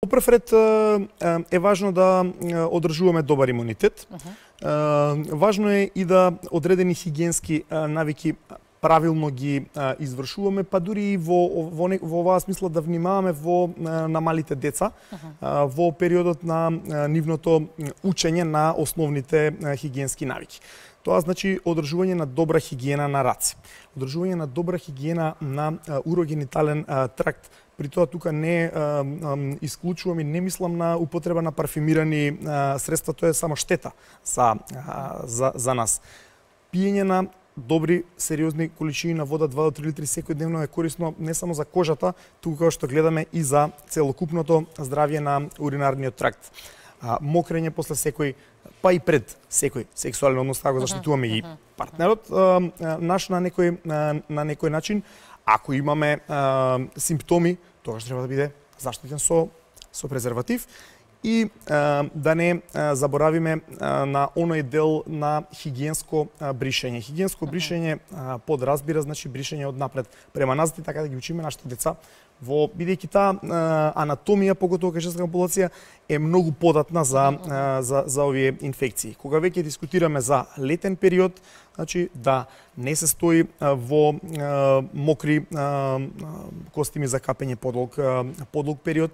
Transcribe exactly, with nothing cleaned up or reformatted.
Во прв ред е важно да одржуваме добар имунитет. Uh-huh. Важно е и да одредени хигиенски навики правилно ги извршуваме, па дури и во, во, во оваа смисла да внимаваме во, на малите деца, uh-huh. во периодот на нивното учење на основните хигиенски навики. Тоа значи одржување на добра хигиена на раце, одржување на добра хигиена на урогенитален тракт. При тоа тука не а, а, исклучувам и не мислам на употреба на парфимирани а, средства, тоа е само штета за, а, за, за нас. Пиење на добри, сериозни количини на вода, два до три литри секојдневно е корисно не само за кожата, туку како што гледаме и за целокупното здравје на уринарниот тракт. А, мокрење после секој, па и пред секој сексуален однос, како заштитуваме и партнерот а, наш на некој, на, на некој начин. Ако имаме а, симптоми, тогаш треба да биде заштитен со, со презерватив и а, да не а, заборавиме а, на оној дел на хигиенско а, бришење. Хигиенско бришење а, подразбира, значи бришење од напред према назад и така да ги учиме нашите деца во, бидејќи таа анатомија, поготово кај женската популација, е многу податна за, а, за, за овие инфекции. Кога веќе дискутираме за летен период, значи да не се стои а, во а, мокри а, костими за капење подлог, а, подлог период,